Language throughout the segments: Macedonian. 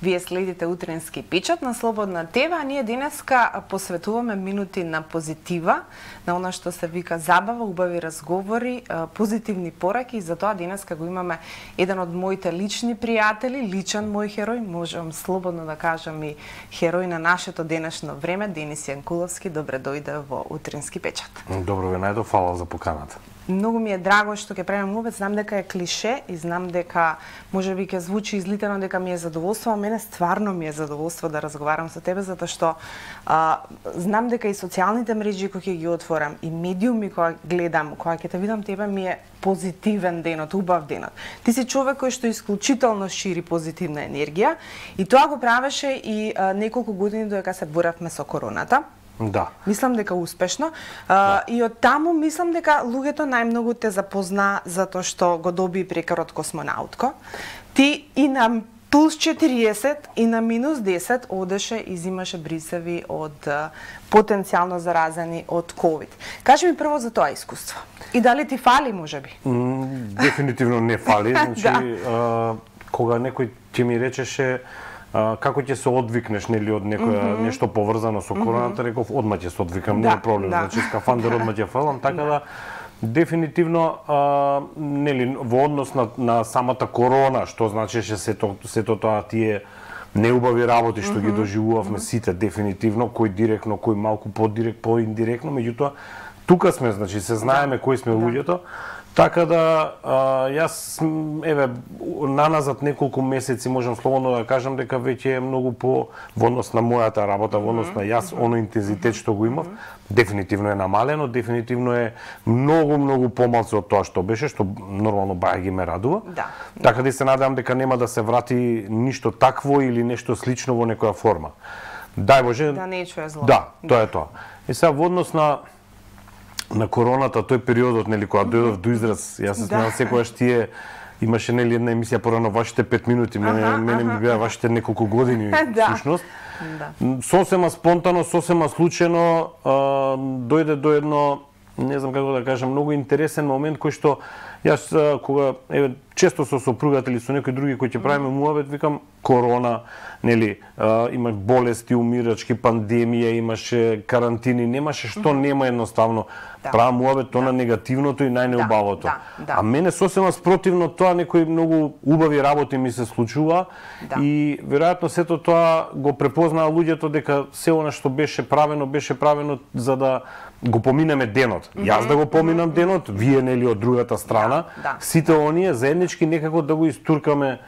Вие следите Утренски печат на Слободна ТВ, а ние денеска посветуваме минути на позитива, на она што се вика забава, убави разговори, позитивни пораки, и затоа денеска го имаме еден од моите лични пријатели, личен мој херој, можам слободно да кажам и херој на нашето денешно време, Денис Јанкуловски. Добре дојде во Утренски печат. Добро ве најдов, фала за поканата. Многу ми е драго што ќе правиме муабет, знам дека е клише и знам дека можеби ќе звучи излитено дека ми е задоволство, а мене стварно ми е задоволство да разговарам со тебе, затоа што знам дека и социјалните мрежи кои ќе ги отворам и медиуми кои гледам, кога ќе те видам тебе, ми е позитивен денот, убав денот. Ти си човек кој што исклучително шири позитивна енергија и тоа го правеше и неколку години додека се боравме со короната. Да. Мислам дека успешно. И од таму мислам дека луѓето најмногу те запозна затоа што го доби прекарот космонаутко. Ти и на плюс 40 и на минус 10 одеше и зимаше брисеви од потенцијално заразени од ковид. Кажи ми прво за тоа искуство. И дали ти фали, можеби? Дефинитивно не фали. Значи, кога некој ќе ми речеше како ќе се одвикнеш, нели, од некоја нешто поврзано со короната, реков одма ќе се одвикам, нема проблем. Значи скафандер одма ќе фалам, така да дефинитивно нели во однос на самата корона, што значеше сето тоа тие неубави работи што ги доживувавме сите дефинитивно, кој директно, кој малку поиндиректно, меѓутоа тука сме, значи се знаеме кои сме луѓето. Така да, јас, еве, наназад неколку месеци можам слободно да кажам дека веќе е многу во однос на мојата работа, во однос на јас, оно интензитет што го имав, дефинитивно е намалено, дефинитивно е многу помалку од тоа што беше, што нормално баја ги ме радува. Да. Така да се надевам дека нема да се врати ништо такво или нешто слично во некоја форма. Дај Боже. Да не чуе зло. Да, тоа е тоа. И сега во однос на короната, тој периодот, нели, кога дојдов до израз, јас се смеам секогаш тие имаше, нели, една емисија порано вашите 5 минути, мене ми беа вашите неколку години всушност. Сосема спонтано, сосема случајно дојде до едно, не знам како да кажам, многу интересен момент кој што јас кога еве често со сопругата или со некои други кои ќе правиме муабет, викам корона, нели, има болести, умирачки, пандемија, имаше карантини, немаше што нема едноставно. Правам муабет тоа на негативното и најнеубавото. А мене сосема спротивно тоа, некои многу убави работи ми се случува и веројатно сето тоа го препознаа луѓето дека се она што беше правено за да го поминеме денот. Јас да го поминам денот, вие, нели, од другата страна, сите оние заеднички некако да го истуркаме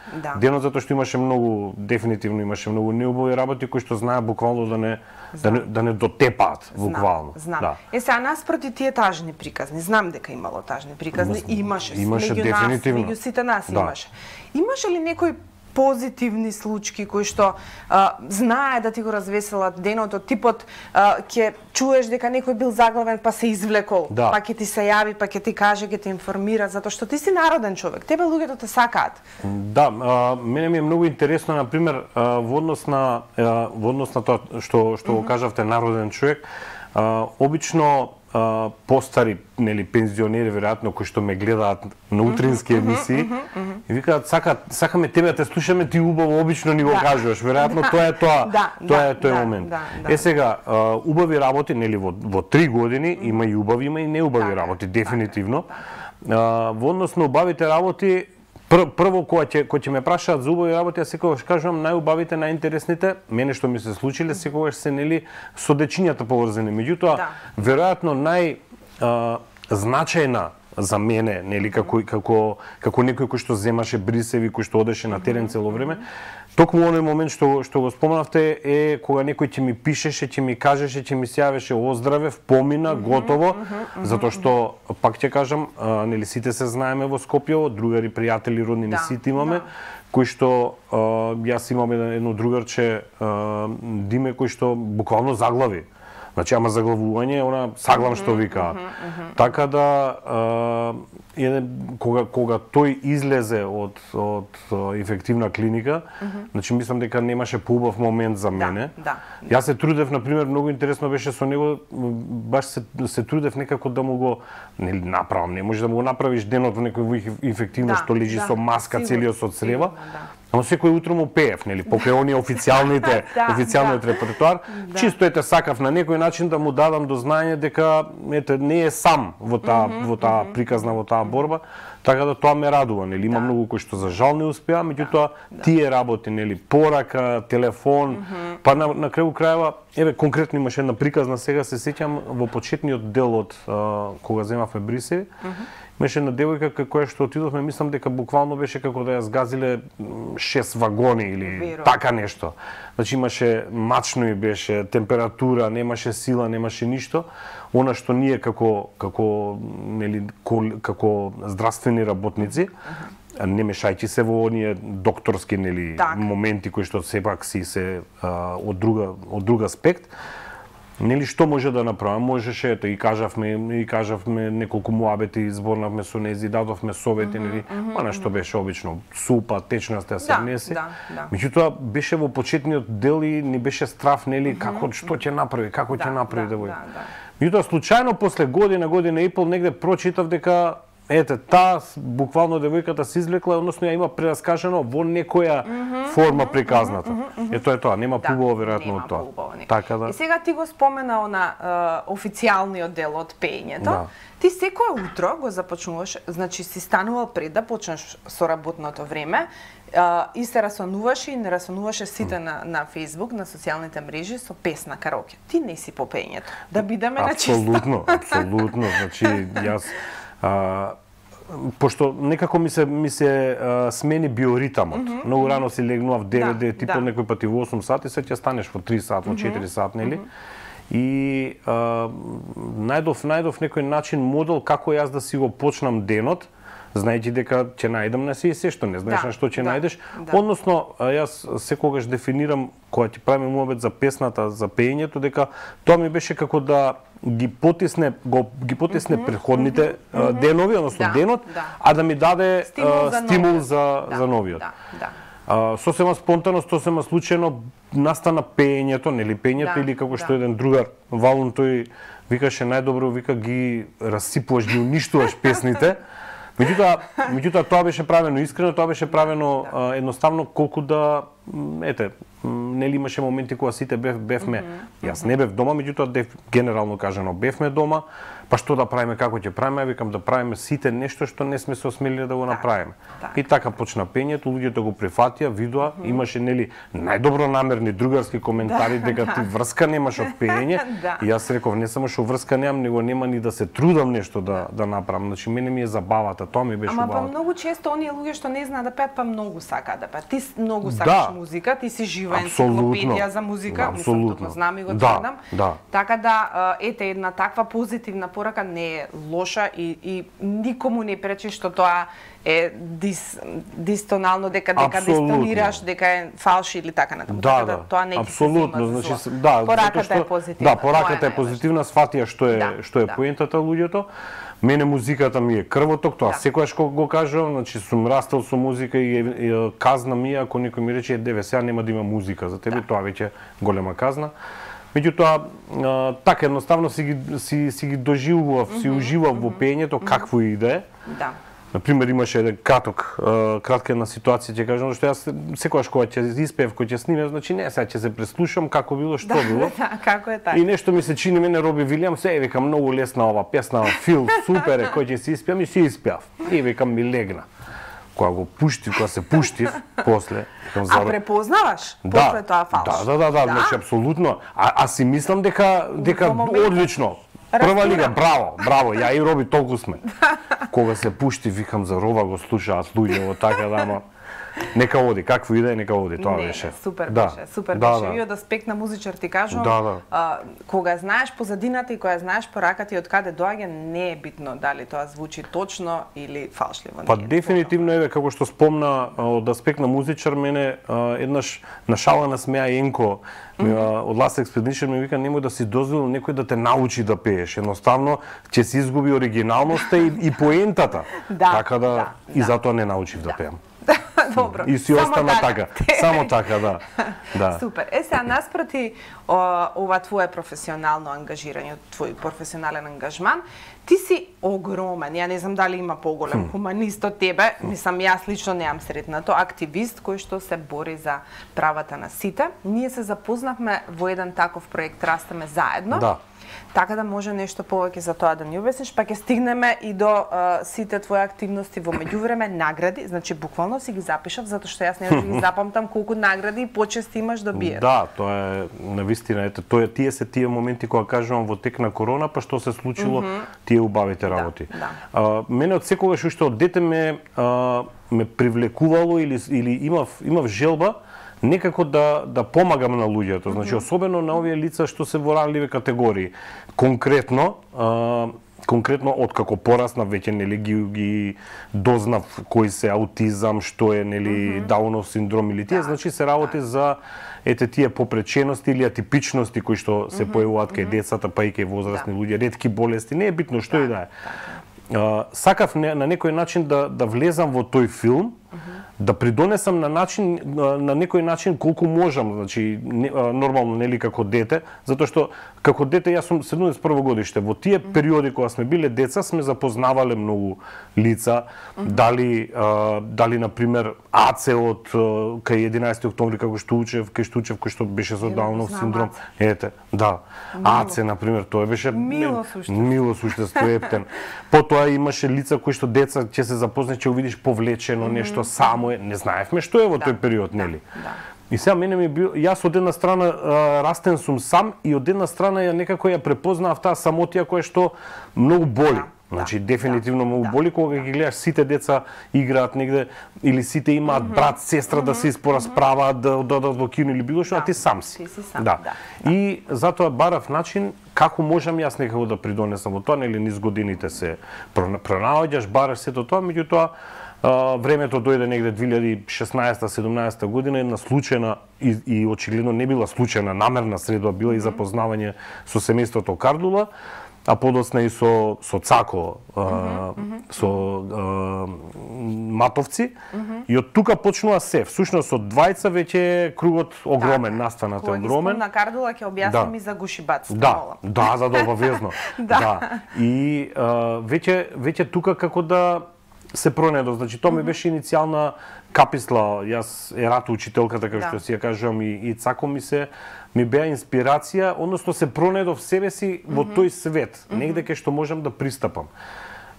денот, затоа што имаше многу, дефинитивно имаше многу неубави работи кои што знае буквално да не дотепаат буквално. Знам. Сега наспроти тие тажни приказни, знам дека имало тажни приказни, имаше дефинитивно. Меѓу сите нас имаше. Имаше ли некој позитивни случаи кои што знае да ти го развеселат денот, од типот ќе чуеш дека некој бил заглавен па се извлекол, па ќе ти се јави, па ќе ти каже, ќе те информира, затоа што ти си народен човек, тебе луѓето те сакаат. Да, мене ми е многу интересно, например, во однос на тоа што го кажавте, народен човек, обично постари, нели, пензионери веројатно кои што ме гледаат на утрински емисии и викаат сакаме тебе да те слушаме, ти убаво обично ни го кажуваш. Веројатно тоа е тој момент. Сега убави работи, нели, во 3 години има и убави, има и неубави работи, дефинитивно. Во однос на убавите работи, прво кога ќе ме прашаат за убави работи, јас секогаш кажувам најубавите, најинтересните, мене што ми се случиле, секогаш се, нели, со дечињата поврзани. Меѓутоа, веројатно најзначајна за мене, нели, како некој кој што земаше брисеви, кој што одеше на терен цело време, токму оној момент што го споменавте е кога некој ќе ми пишеше, ќе ми кажеше, ќе ми се јавеше оздравев, помина, готово, затоа што, пак ќе кажам, нели, сите се знаеме во Скопје, другари, пријатели, роднини, сите имаме, кои што јас имам едно другарче, Диме, кој што буквално заглави. Значи, ама заглавување, она саглам што викаат. Така да, кога тој излезе од инфективна клиника, значи мислам дека немаше поубав момент за мене. Јас се трудев, например, многу интересно беше со него, баш се трудев некако да му го направам. Не може да му го направиш денот во некој инфективно што лежи со маска целиот со црева. Ама секој утро му пеев, нели, покрај оние официјалниот репертоар, чисто сакав на некој начин да му дадам до знаење дека не е сам во таа приказна, во таа борба, така да тоа ме радува, нели, има многу кои што за жал не успеа, меѓутоа тие работи, нели, порака, телефон, па на крају крајава, конкретно имаше една приказна, сега се сеќам во почетниот дел од кога земавме Брисеви, имаше една девојка која што отидовме, мислам дека буквално беше како да ја згазиле 6 вагони или така нешто. Значи имаше мачно и беше температура, немаше сила, немаше ништо. Она што ние како здравствени работници, не мешајќи се во оние докторски моменти кои што сепак си се од друг аспект, нели што може да направам? Можеше, ето и кажавме неколку муабети, зборнавме со нези, дадовме совети, нели, она што беше обично супа, течноста се внесе. Меѓутоа беше во почетниот дел и ни беше страф, нели, како што ќе направи, како ќе направи девојка. Меѓутоа случајно после година и пол негде прочитав дека таа буквално девојката се извлекла, односно ја има прераскажано во некоја форма приказната. Ето е тоа, нема побово веројатно од тоа. Така да. И сега ти го спомена на официјалниот дел од пеењето. Ти секое утро го започнуваш, значи си станувал пред да почнеш со работното време, и се расонуваше и не расонуваше сите на Facebook, на социјалните мрежи со песна караоке. Ти не си по пеењето. Да бидеме на чисто. Апсолутно. Значи јас пошто некако ми се смени биоритамот. Многу рано си легнував 9, типо некој пати во 8 сати, се ќе станеш во 3 сат, во 4 сат, нели? И најдов некој начин модел како јас да си го почнам денот, знаејќи дека ќе најдам на се што не знаеш на што ќе најдеш. Односно, јас секогаш дефинирам кога ќе правиме муабет за песната, за пеењето, дека тоа ми беше како да ги потисне претходните денови, односно денот, а да ми даде стимул за новиот. Сосема спонтано, сосема случајно настана пеењето, нели пеењето, или како што еден другар Валун, тој викаше најдобро, вика ги расипуваш, ги уништуваш песните. Меѓутоа тоа беше правено искрено, тоа беше правено едноставно колку да нели имаше моменти кога сите бевме, јас не бев дома, меѓутоа генерално кажано бевме дома, па што да правиме, како ќе правиме, викам да правиме сите нешто што не сме се осмелиле да го направиме. И така почна пеењето, луѓето го прифатија, видоа, имаше нели најдобро намерни другарски коментари дека ти врска немаш од пеење. И јас реков не само што врска немам, него нема ни да се трудам нешто да направам. Значи мене ми е забавата, тоа ми беше убаво. Ама па многу често оние луѓе што не знаат да пеат, па многу сакаат да пеат. Ти многу сакаш музика, ти си жива енциклопедија за музика, мислам тоа знам и го тврдам. Така да една таква позитивна порака не е лоша и никому не пречи што тоа е дистонално, дека дистонираш, дека е фалш или така натаму. Да, тоа не ќе се зема за зло. Пораката е позитивна. Да, пораката е позитивна, сфатија што е поентата луѓето. Мене музиката ми е крвоток, тоа секогаш го кажувам, значи сум растел со музика и казна ми ако некој ми рече деве сега нема да има музика за тебе, тоа веќе голема казна. Меѓутоа, така едноставно си ги доживував, си уживав во пеењето, какво и да е. Например, имаше еден кратка една ситуација, ќе кажам, што јас секогаш кога ќе испеев, кога ќе снимев, значи не, сега ќе се преслушам како било, што било. Како е така. И нешто ми се чини мене Роби Вилијамс, викам многу лесна ова песна, фил, супер е, кој ќе се испеам и си испеав. И викам ми легна. Кога го пуштив, кога се пуштив, после... А препознаваш после тоа фалш? Да, значи апсолутно. А си мислам дека одлично. Прва лига, браво, ја и Роби толку сме. Кога се пушти, викам за Рова го слушаат луѓе, така да, ама нека оди, какво и да е, нека оди, тоа беше. Супер беше. И од аспект на музичар ти кажувам, кога знаеш позадината и кога знаеш пораката и од каде доаѓа, не е битно дали тоа звучи точно или фалшливо. Па дефинитивно како што спомна од аспект на музичар, мене еднаш на шала насмеа Енко од Last Expedition ми вика немој да си дозволи некој да те научи да пееш. Едноставно ќе се изгуби оригиналноста и поентата. Така да и затоа не научив да пеам. Добро. И си остана така. Само така, да. Да. Супер. Сега наспроти ова твое професионално ангажирање, твој професионален ангажман, ти си огромен. Ја не знам дали има поголем хуманист од тебе. Мислам, јас лично неам сретнато. Активист кој што се бори за правата на сите. Ние се запознавме во еден таков проект Растеме заедно. Да. Така да може нешто повеќе за тоа да ни обясниш, па ќе стигнеме и до сите твои активности во меѓувреме, награди, значи буквално си ги запишав затоа што јас не ги запамтам колку награди и почести имаш добиен. Да, тоа е навистина, ете, тие се тие моменти кога кажувам во тек на корона, па што се случило тие убавите работи. Да. Мене од секогаш уште од дете ме привлекувало или имав желба некако да помагам на луѓето, значи особено на овие лица што се во ранливи категории. Конкретно откако пораснав веќе нели ги дознав кои се аутизам, што е нели Даунов синдром или тие, значи се работи за тие попречености или атипичности кои што се појавуваат кај децата, па и кај возрастни луѓе, ретки болести, не е битно што и да е. Сакав на некој начин да влезам во тој филм, да придонесам на некој начин колку можам, значи нормално нели како дете, затоа што како дете јас сум 71 годиште. Во тие периоди кога сме биле деца сме запознавале многу лица, дали на пример Аце од кај 11 октомври како што учев, кој што беше со Даунов синдром. Ете, да. Аце на пример, тоа беше мило суштество ептен. Потоа имаше лица кои што деца ќе се запознаш, ќе видиш повлечено нешто само не знаевме што е во тој период, нели? И сега мене ми бил, јас од една страна растен сум сам и од една страна ја некако ја препознав таа самотија која што многу боли. Значи дефинитивно многу боли кога ги гледаш сите деца играат негде или сите имаат брат, сестра да се испорасправаат, да одат во кино или било што, а ти сам си. Да. И затоа барав начин како можам јас некако да придонесам во тоа, нели низ годините се пронаоѓаш, бараш сето тоа, меѓутоа времето дојде негде 2016-17 година, една случајна и очигледно не била случајна, намерна средба била и запознавање со семејството Кардула, а подоцна и со Цако, со Матовци, и од тука почнува се. Всушност од двајца веќе кругот огромен, настаната е огромен. На Кардула ќе објасним и за гушибаците. Да, за да обавезно. Да. И веќе тука како да се пронедо, значи тоа ми беше иницијална каписла, јас ерато учителката, како што си ја кажувам, и Цако ми беа инспирација, односно се пронедов себе си во тој свет, негде кај што можам да пристапам.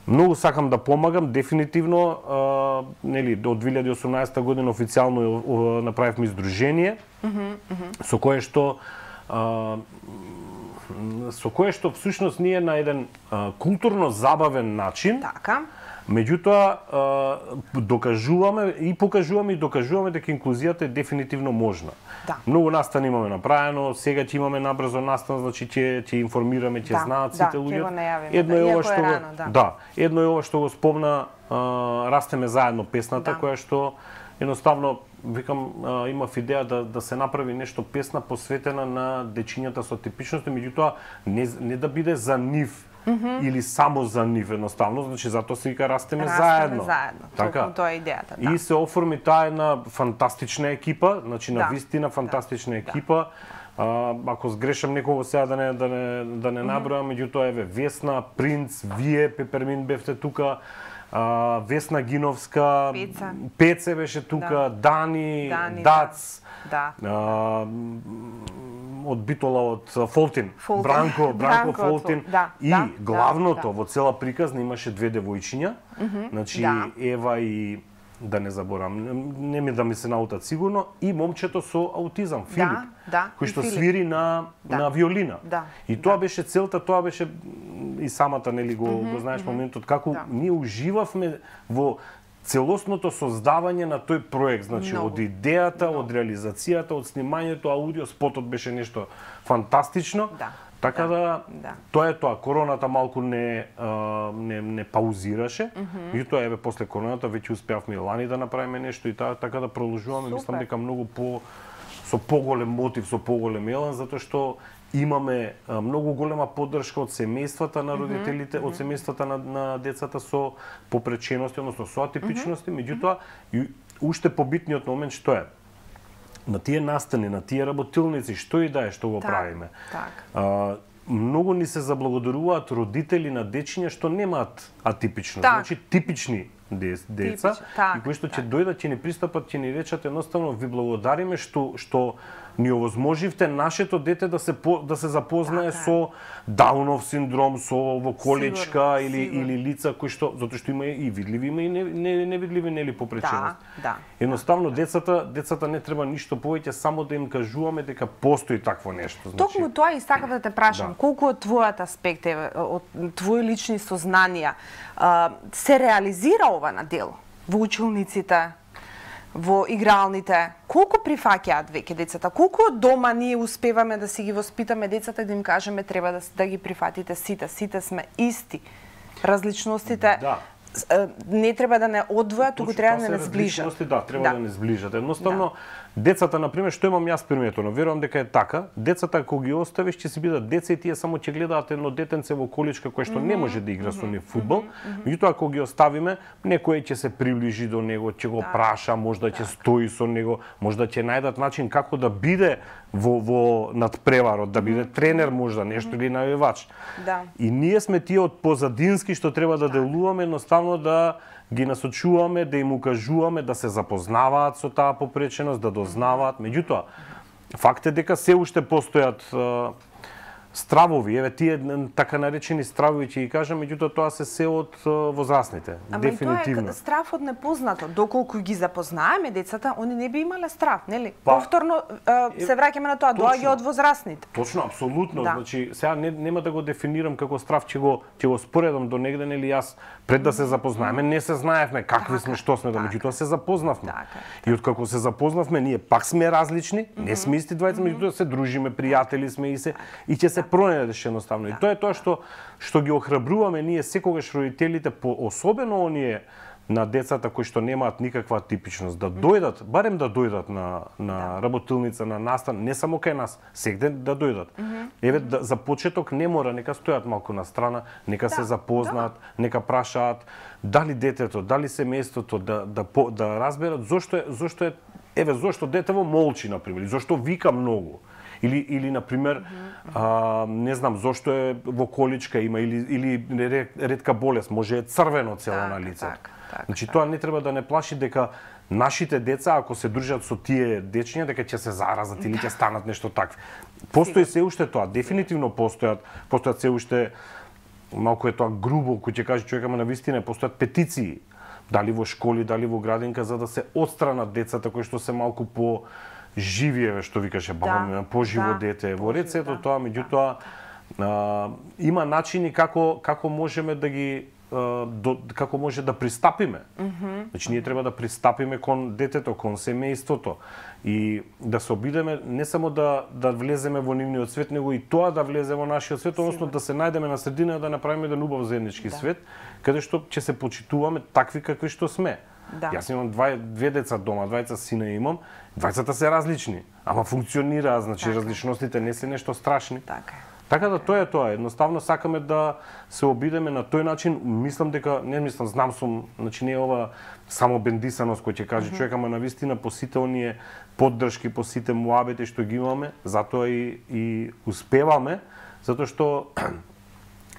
Многу сакам да помагам, дефинитивно, нели, од 2018 година официјално направивме издружение, со кое што всушност ние на еден културно забавен начин, меѓутоа докажуваме и покажуваме и докажуваме дека инклузијата е дефинитивно можна. Многу настани имаме направено, сега ќе имаме набрзо настан, значи ќе информираме, ќе знаат сите луѓе. Едно е ова што го спомна Растеме заедно песната, која што едноставно викам имав идеја да се направи нешто песна посветена на дечињата со типичности, меѓутоа не да биде за нив или само за нив едноставно, значи затоа се вика Растеме заедно. Така. Тоа е идејата. И се оформи таа една фантастична екипа, значи на вистина фантастична екипа. Ако сгрешам некого сега да не набројам, меѓутоа еве Весна, Принц, вие Пепермин бевте тука, Весна Гиновска, Пеце беше тука, Дани, Дац, од Битола, од Фолтин, Бранко Фолтин, и главното во цела приказна имаше две девојчиња, значи Ева и да не заборам, не ми да ми се наутат сигурно, и момчето со аутизам, Филип, кој што свири на виолина. И тоа беше целта, тоа беше и самата, нели, го знаеш моментот, како ние уживавме во целосното создавање на тој проект, значи од идејата, од реализацијата, од снимањето, аудио, спотот беше нешто фантастично. Така да тоа е тоа. Короната малку не паузираше, меѓутоа еве после короната веќе успеавме и лани да направиме нешто и така да продолжуваме, мислам дека многу со поголем мотив, со поголем елан, затоа што имаме многу голема поддршка од семејствата на родителите, од семејствата на децата со попречености, односно со атипичности, меѓутоа уште побитниот момент што е? На тие настани, на тие работилници, што и да е што го правиме. Многу ни се заблагодаруваат родители на дечиња што немаат атипично, значи типични деца, и кои што ќе дојдат, ќе ни пристапат, ќе ни речат едноставно ви благодариме што ни овозможивте нашето дете да се запознае со Даунов синдром, со колечка или лица кои што затоа што има и видливи, има и невидливи нели попреченост. Едноставно децата не треба ништо повеќе, само да им кажуваме дека постои такво нешто. Токму тоа и сакам да те прашам, колку од твојот аспект од твои лични сознанија се реализира ова на дело во училниците, во игралните? Колку прифаќаат веќе децата? Колку од дома ние успеваме да си ги воспитаме децата и да им кажеме треба да ги прифатите сите сме исти. Различностите не треба да не одвојат, туку треба да не сближат. Треба да не сближат. Едноставно децата, например, што имам јас приметено, верувам дека е така, децата кога ги оставиш ќе си бидат деца и тие само ќе гледаат едно детенце во количка кое што не може да игра со нив фудбал, меѓутоа кога ги оставиме, некој ќе се приближи до него, ќе го праша, можда ќе стои со него, можда ќе најдат начин како да биде во надпреварот, да биде тренер можда, нешто или навивач. И ние сме тие од позадински што треба да делуваме, едноставно да ги насочуваме, да им укажуваме да се запознаваат со таа попреченост, да дознаваат. Меѓутоа, факт е дека се уште постојат стравови, еве тие така наречени стравови ќе ги кажам, меѓутоа тоа се од возрастните. Дефинитивно. Ама тоа е страв од непознато. Доколку ги запознаеме децата, они не би имале страв, нели? Повторно се враќаме на тоа, доаѓа од возрастните. Точно, апсолутно. Значи, сега нема да го дефинирам како страв, ќе го споредам до негде, нели јас пред да се запознаеме, не се знаевме какви сме, што сме, меѓутоа се запознавме. И откако се запознавме, ние пак сме различни, не сме исти двајца, меѓутоа се дружиме, пријатели сме и ќе се пронајдеш едноставно. И тоа е тоа што ги охрабруваме ние секогаш родителите, особено оние на децата кои што немаат никаква типичност, да дојдат, барем да дојдат на работилница, на настан, не само кај нас, сегде да дојдат. Еве за почеток не мора, нека стојат малку на страна, нека се запознаат, нека прашаат дали детето, дали семејството да разберат зошто детево молчи на пример, зошто вика многу. Или например, не знам зошто е во количка има или ретка болест, може е црвено цело на лицето. Значи тоа не треба да не плаши дека нашите деца ако се дружат со тие дечиња дека ќе се заразат или ќе станат нешто такво. Постои се уште тоа, дефинитивно постојат се уште малку е тоа грубо кој ќе каже човек, ама навистина постојат петиции, дали во школи, дали во градинка, за да се отстранат децата кои што се малку по живиеве, што викаше баба ми, поживо дете. Во ред сето тоа, меѓутоа има начини како можеме да ги како може да пристапиме. Значи ние треба да пристапиме кон детето, кон семејството и да се обидеме не само да влеземе во нивниот свет, него и тоа да влезе во нашиот свет, односно да се најдеме на средина да направиме еден убав заеднички свет, каде што ќе се почитуваме такви какви што сме. Јас имам две деца дома, двајца сина имам, двајцата се различни, ама функционираат, значи различностите не се нешто страшни. Така да тоа е тоа, едноставно сакаме да се обидеме на тој начин, знам сум, значи не е ова само бендисаност кој ќе каже човек, ама навистина по сите оние поддршки, по сите муабети што ги имаме, затоа и успеваме, затоа што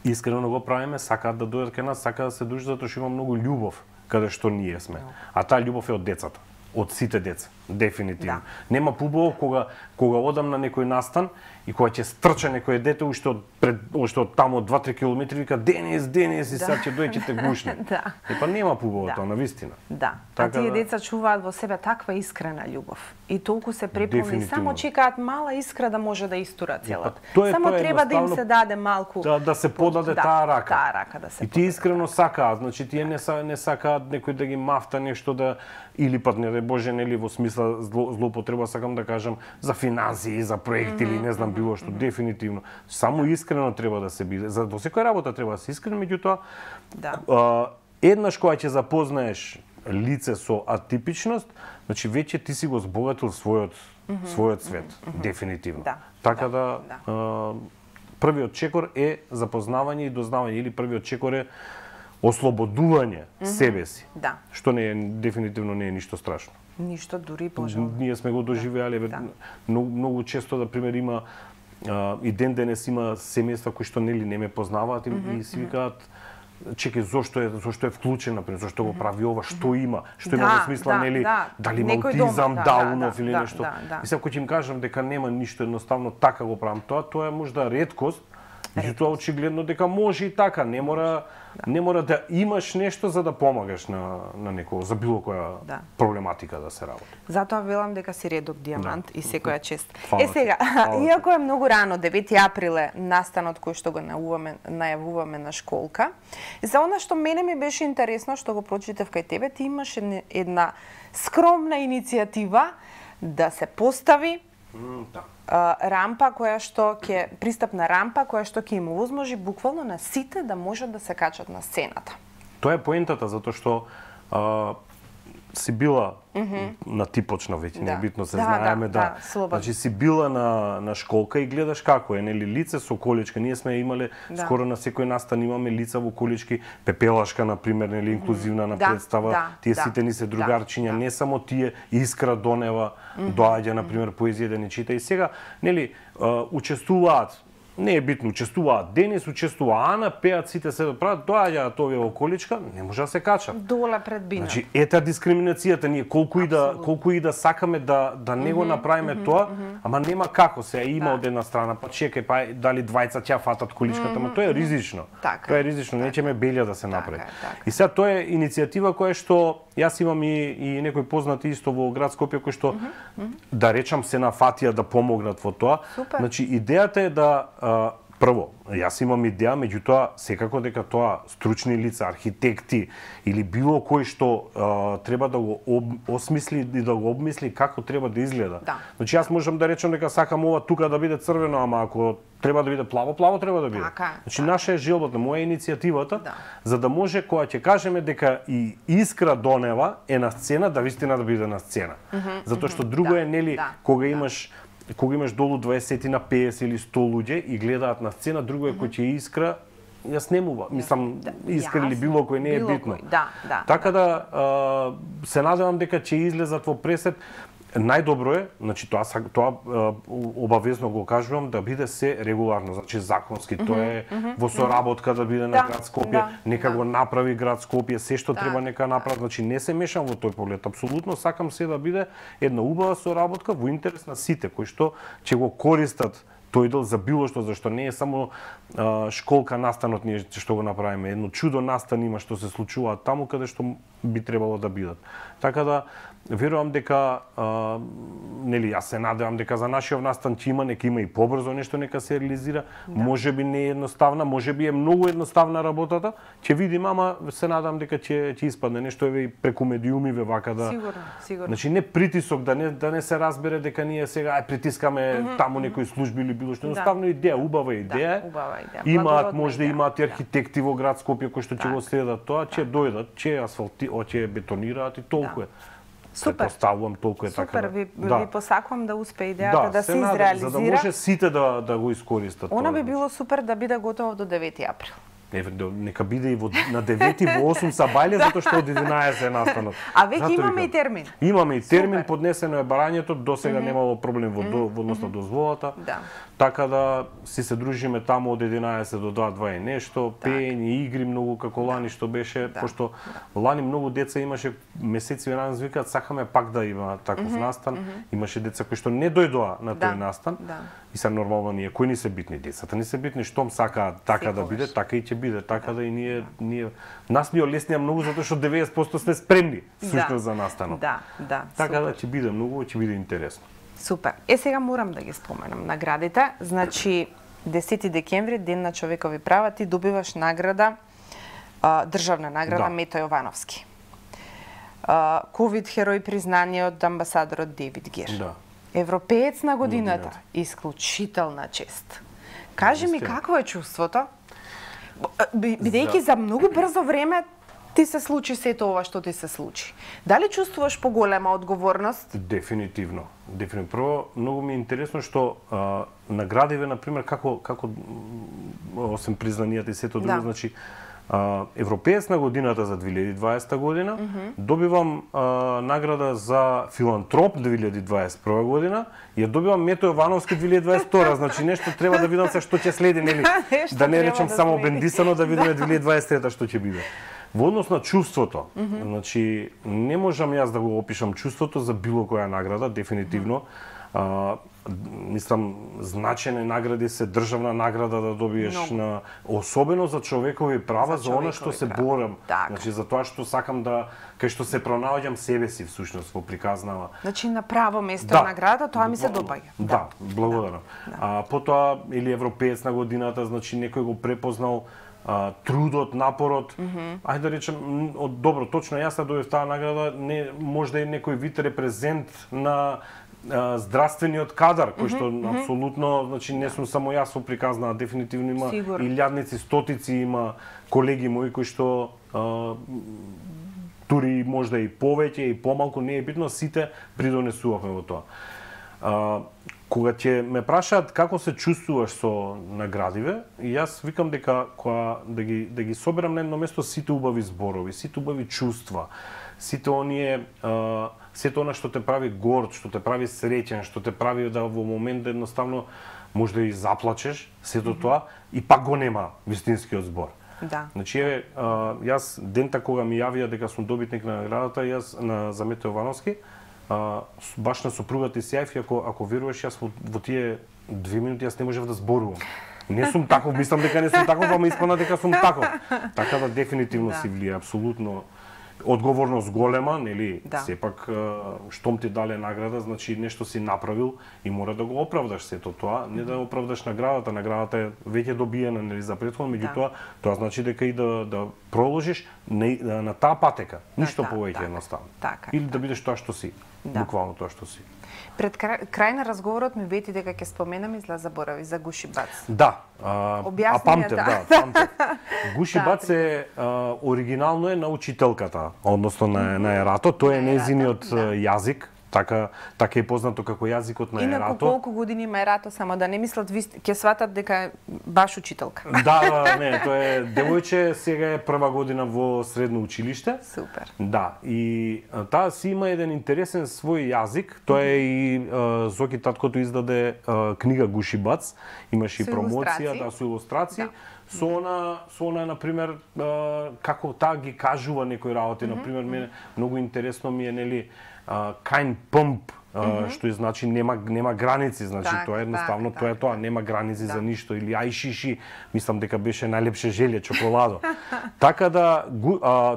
искрено го правиме, сакаат да дојдат кај нас, сакаат да се дружат, затоа што има многу љубов каде што ние сме. А таа љубов е од децата, од сите деца, дефинитивно. Нема побово кога одам на некој настан и кога ќе стрча некој дете уште од таму од 2-3 километри вика Денис и сега ќе дојде ќе те гушне. Па нема побово тоа, навистина. А тие деца чуваат во себе таква искрена љубов и толку се преполни, само чекаат мала искра да може да истура целата. Само треба да им се даде малку да се подаде таа рака. Таа рака да се. И тие искрено сакаат, значи тие не сакаат некој да ги мафта нешто да или пат не дај Боже нели во смисла злоупотреба, сакам да кажам, за финансии, за проекти или не знам било што, дефинитивно. Само искрено треба да се биде. За во секоја работа треба да се искрен, меѓутоа еднаш кога ќе запознаеш лице со атипичност, значи веќе ти си го збогатил својот свет, дефинитивно. Така да првиот чекор е запознавање и дознавање, или првиот чекор е ослободување себе си. Да. Што не е дефинитивно не е ништо страшно. Ништо дури пожелно. Ние сме го доживеале многу често, да пример има и ден денес има семејства кои што нели не ме познаваат и си викаат чекај зошто е вклучен, например, зошто го прави ова, што има во смисла нели дали има аутизам, даунов или нешто. И сега кој ќе им кажам дека нема ништо, едноставно така го правам тоа е можда реткост. Меѓутоа очигледно дека може и така, не мора да имаш нешто за да помагаш на некој за било која проблематика да се работи. Затоа велам дека си редок дијамант и секоја чест. Сега, иако е многу рано, 9 април е настанот кој што го најавуваме на школка, за она што мене ми беше интересно што го прочитав кај тебе, ти имаш една скромна иницијатива да се постави рампа која што пристапна рампа која што ќе им овозможи буквално на сите да можат да се качат на сцената. Тоа е поентата затоа што си била на ти почна веќе, не е битно се знаеме значи си била на школка и гледаш како е, нели лице со количка. Ние сме имале скоро на секој настан имаме лица во колички, пепелашка на пример, нели инклузивна на представа. Тие сите ни се другарчиња, не само тие, Искра Донева доаѓа на пример поезија да ни чита и сега нели учествуваат. Не е битно, учествуваат Денис, учествува Ана, пеат сите се прават, доаѓаат овие во количка, не може да се качат. Доле пред бина. Значи, ета дискриминацијата, ние колку и да сакаме да не го направиме тоа, ама нема како се има од една страна, па чекај, па дали двајца ќе фатат количката, ама тоа е ризично. Тоа е ризично, не ќе ме белја да се направи. И сега тоа е иницијатива која што јас имам и некои познати исто во град Скопје кои што да речам се нафатија да помогнат во тоа. Значи идејата е да прво, јас имам идеја, меѓутоа секако дека тоа стручни лица, архитекти или било кој што треба да го осмисли и да го обмисли како треба да изгледа. Значи јас можам да речам дека сакам ова тука да биде црвено, ама ако треба да биде плаво, плаво треба да биде. Значи наша е желбата, моја иницијативата, за да може кога ќе кажеме дека и Искра Донева е на сцена, да вистина да биде на сцена. Затоа што друго е нели кога имаш долу 20 на 50 или 100 луѓе и гледаат на сцена, друго е кој ќе Искра, ја снемува. Мислам, Искра или било кој не е битно. Така да се надевам дека ќе излезат во пресет. Најдобро е, значи тоа обавезно го кажувам, да биде се регуларно, значи законски, тоа е во соработка да биде на град Скопје, нека го направи град Скопје, се што треба нека направи, значи не се мешам во тој поглед, апсолутно сакам се да биде една убава соработка во интерес на сите кои што ќе го користат тој дел за било што, зашто не е само школка настанот ние што го направиме, едно чудо настан има што се случува таму каде што би требало да бидат. Така да верувам дека нели јас се надевам дека за нашиот настан ќе има и побрзо нешто нека се реализира. Можеби не е едноставна, можеби е многу едноставна работата. Ќе видиме, ама се надевам дека ќе испадне нешто еве преку медиумиве вака да. Сигурно. Значи не притисок да не се разбере дека ние сега притискаме таму некои служби или било што, едноставно идеја, убава идеја. Имаат можда имаат архитекти во град Скопје кои што ќе го следат тоа, ќе дојдат, ќе ќе бетонираат и толку е. Супер. Поставувам толку е така. Супер, ви посакувам да успее идејата да се изреализира. За да може сите да го искористат. Она би било супер да биде готово до 9 април. Нека биде и на 9 во 8 сабајле, затоа што од 11 е настанот. А веќе имаме и термин. Имаме и термин, поднесено е барањето, досега немало проблем во однос на дозволата. Така да си се дружиме таму од 11 до 2 и нешто, пеење, игри многу како лани што беше, пошто лани многу деца имаше месеци рано викаат сакаме пак да има таков настан. Имаше деца кои што не дојдоа на тој настан. И се нормално ние кои ни се битни децата, ни се битни штом сакаат така да биде, така и ќе биде, така да и ние нас ни олеснија многу затоа што 90% сме спремни всушност за настанот. Така да ќе биде многу, ќе биде интересно. Супер. Сега морам да ги споменам наградите. Значи 10 декември, Ден на човекови права, ти добиваш награда, државна награда Мето Јовановски. Ковид херој признание од амбасадорот Девид Гер. Европеец на годината, исклучителна чест. Кажи ми какво е чувството? Бидејќи за многу брзо време ти се случи сето ова што ти се случи. Дали чувствуваш поголема одговорност? Дефинитивно. Прво, многу ми е интересно што наградиве, например, како освен признанијата и сето друго, значи Европеец на годината за 2020 година, добивам награда за филантроп 2021 година и ја добивам Мето Јовановски 2022, значи нешто треба да видам се што ќе следи, нели? Да не речам само бендисано, да видиме 2023 што ќе биде. Во однос на чувството, значи не можам јас да го опишам чувството за било која награда, дефинитивно. Мислам, значени награди се државна награда да добиеш на особено за човекови права, за она што се борам. Значи за тоа што сакам да кај што се пронаоѓам себе си всушност во приказнава. Значи на право место награда, тоа ми се допаѓа. Да, благодарам. Потоа или европеец на годината, значи некој го препознал трудот, напорот. Ајде да речем, добро, точно јас добив таа награда, не можда и некој вид репрезент на здравствениот кадар, кој што апсолутно, значи не сум само јас во приказна, дефинитивно има илјадници, стотици има колеги мои кои што дури можда и повеќе и помалку, не е битно, сите придонесувавме во тоа. Кога ќе ме прашаат како се чувствуваш со наградиве, јас викам дека кога да ги соберам на едно место сите убави зборови, сите убави чувства, сите оние сето она што те прави горд, што те прави среќен, што те прави да во момент едноставно може да и заплачеш, сето тоа и пак го нема вистинскиот збор. Да. Значи еве јас дента кога ми јавија дека сум добитник на наградата, јас за Мето Јовановски, баш на сопругата и сјајф, ако веруваш, јас во тие 2 минути јас не можев да зборувам. Не сум таков, мислам дека не сум таков, ама испадна дека сум таков. Така да дефинитивно си влие, апсолутно. Одговорност голема, нели? Сепак штом ти дале награда, значи нешто си направил и мора да го оправдаш сето тоа, не да оправдаш наградата. Наградата е веќе добиена, нели, за претходно, меѓутоа тоа значи дека и да проложиш на таа патека, ништо повеќе едноставно. Или да бидеш тоа што си, буквално тоа што си. Пред крај на разговорот ми вети дека ќе споменам изла заборави за Гуши Бац. Да. Памтев. Гуши Бац е оригинално е на учителката, односно на Ерато, тој е нејзиниот јазик. Така е познато како јазикот на Ерато. Инаку колку години има Ерато, само да не мислат ќе сватат дека е баш учителка. Не, тоа е девојче, сега е прва година во средно училиште. Супер. Да, и таа си има еден интересен свој јазик, тоа е и Зоки таткото издаде книга Гуши Бац, имаше и промоција, со илустрации. Со она, например, како таа ги кажува некои работи, например, мене многу интересно ми е, нели, kind pump, што значи нема граници, значи тоа е едноставно, тоа е тоа, нема граници за ништо, или ај шиши, мислам дека беше најлепше желе, чоколадо. Така да,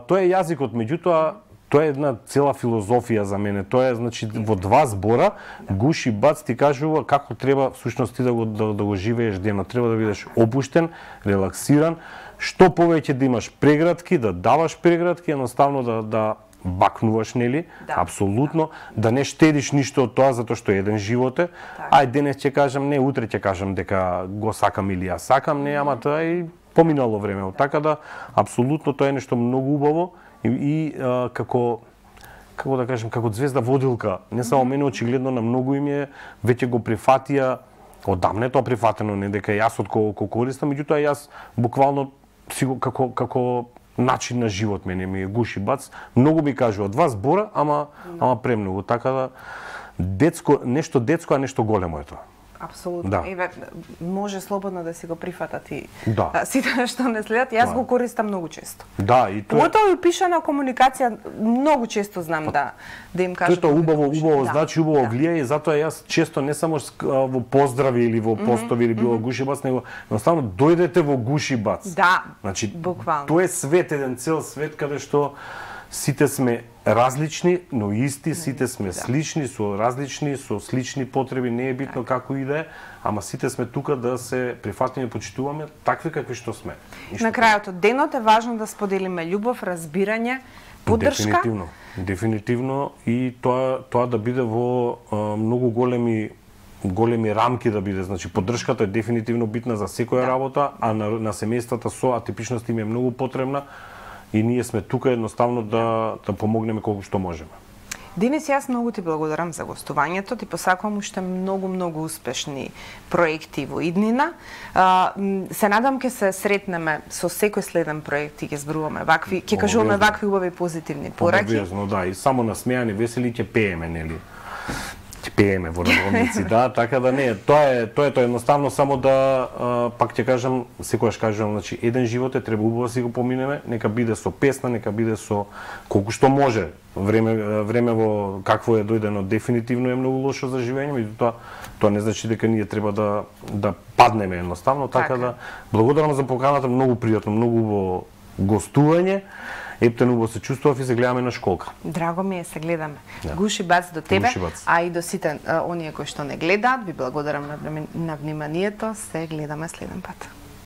тоа е јазикот, меѓутоа, тоа е една цела филозофија за мене. Тоа е, значи, во 2 збора, Гуши Бац ти кажува како треба всушност ти да го живееш денот. Треба да бидеш опуштен, релаксиран, што повеќе да имаш прегратки, да даваш прегратки, едноставно да бакнуваш, нели? Апсолутно, да не штедиш ништо од тоа затоа што еден живот е. Ај денес ќе кажам не, утре ќе кажам дека го сакам или ја сакам, не, ама тоа е поминало време. Така да апсолутно тоа е нешто многу убаво и како да кажем, како звезда водилка, не само мене, очигледно на многу име веќе го прифатија, одамна е тоа прифатено, не дека јас од колку користам, меѓутоа јас буквално како начин на живот мене ми е Гуши Бац, многу ми кажува 2 збора, ама премногу, така да нешто детско, а нешто големо е тоа. Апсолутно. Еве, може слободно да си го прифатат и сите што не следат. Јас го користам многу често. Да, и тоа. Поготово и пишана комуникација многу често знам да им кажам. Тоа убаво значи убаво влијае и затоа јас често не само во поздрави или во постови или било Гуши Бац, него едноставно дојдете во Гуши Бац. Да. Значи буквално. Тоа е свет, еден цел свет каде што сите сме различни, но исти, сите сме слични, со слични потреби, не е битно како и да е, ама сите сме тука да се прифатиме, почитуваме такви какви што сме. На крајот од денот е важно да споделиме љубов, разбирање, поддршка. Дефинитивно и тоа да биде во многу големи рамки да биде. Значи поддршката е дефинитивно битна за секоја работа, а на семејствата со атипичности им е многу потребна. И ние сме тука едноставно да помогнеме колку што можеме. Денис, јас многу ти благодарам за гостувањето, ти посакувам уште многу успешни проекти во иднина. Се надам ќе се сретнеме со секој следен проект и ќе зборуваме вакви, ќе кажуваме вакви убави позитивни пораки. Обвезно, да, и само насмејани, весели ќе пееме, нели? Ќе пееме во народници, да, така да не, тоа е едноставно само да пак ќе кажам, секогаш кажувам, значи еден живот треба убаво да си го поминеме, нека биде со песна, нека биде со колку што може. Време во какво е дојдено дефинитивно е многу лошо за живење, меѓутоа тоа не значи дека ние треба да паднеме едноставно, така да благодарам за поканата, многу пријатно, многу убаво гостување. Ептен убаво се чувствував и се гледаме на школка. Драго ми е, се гледаме. Да. Гуши бац до тебе, а и до сите оние кои што не гледаат, ви благодарам на вниманието, се гледаме следен пат.